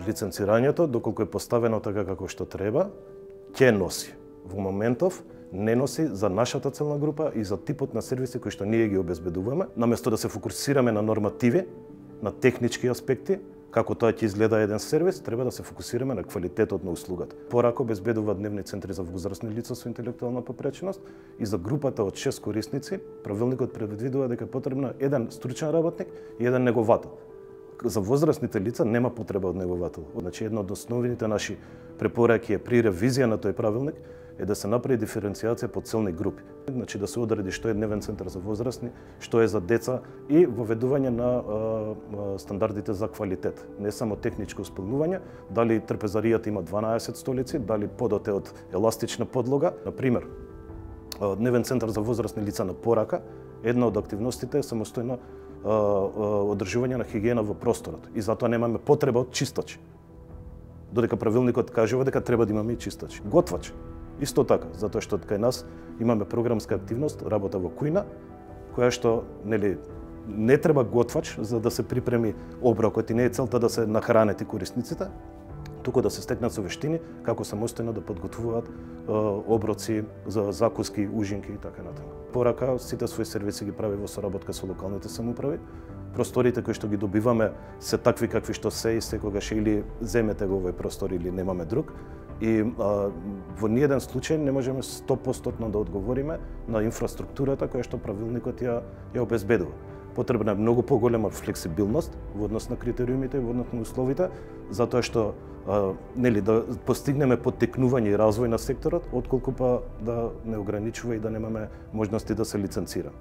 Лиценцирањето, доколку е поставено така како што треба, ќе носи. Во моментов не носи за нашата целна група и за типот на сервиси кои што ние ги обезбедуваме, наместо да се фокусираме на нормативи, на технички аспекти, како тоа ќе изгледа еден сервис, треба да се фокусираме на квалитетот на услугата. Порако обезбедува дневни центри за возрастни лица со интелектуална попреченост и за групата од 6 корисници, правилникот предвидува дека е потребно еден стручен работник и еден неговател. За возрастните лица нема потреба од неговател. Значи, една од основните наши препораки е при ревизија на тој правилник е да се направи диференцијација по целни групи. Значи, да се одреди што е дневен центар за возрастни, што е за деца и воведување на стандардите за квалитет. Не само техничко исполнување, дали трпезаријата има 12 столици, дали подот е од еластична подлога. Например, дневен центар за возрастни лица на порака, една од активностите е самостојно одржување на хигиена во просторот и затоа немаме потреба од чистачи. Додека правилникот кажува дека треба да имаме и чистачи. Готвач, исто така, затоа што кај нас имаме програмска активност, работа во кујна, која што не треба готвач за да се припреми оброкот и не е целта да се нахранет и корисниците, туку да се стекнат со вештини како самостојно да подготвуваат оброци за закуски, ужинки и така натаму. Порака сите своји сервиси ги прави во соработка со локалните самоуправи. Просториите кои што ги добиваме се такви какви што се и секогаш или земете го овој простор или немаме друг. И во ниеден случај не можеме 100% да одговориме на инфраструктурата која што правилникот ја обезбедува. Потребна е многу поголема флексибилност во однос на критериумите и во однос на условите, затоа што да постигнеме поттекнување и развој на секторот, отколку па да не ограничува и да немаме можности да се лиценцира.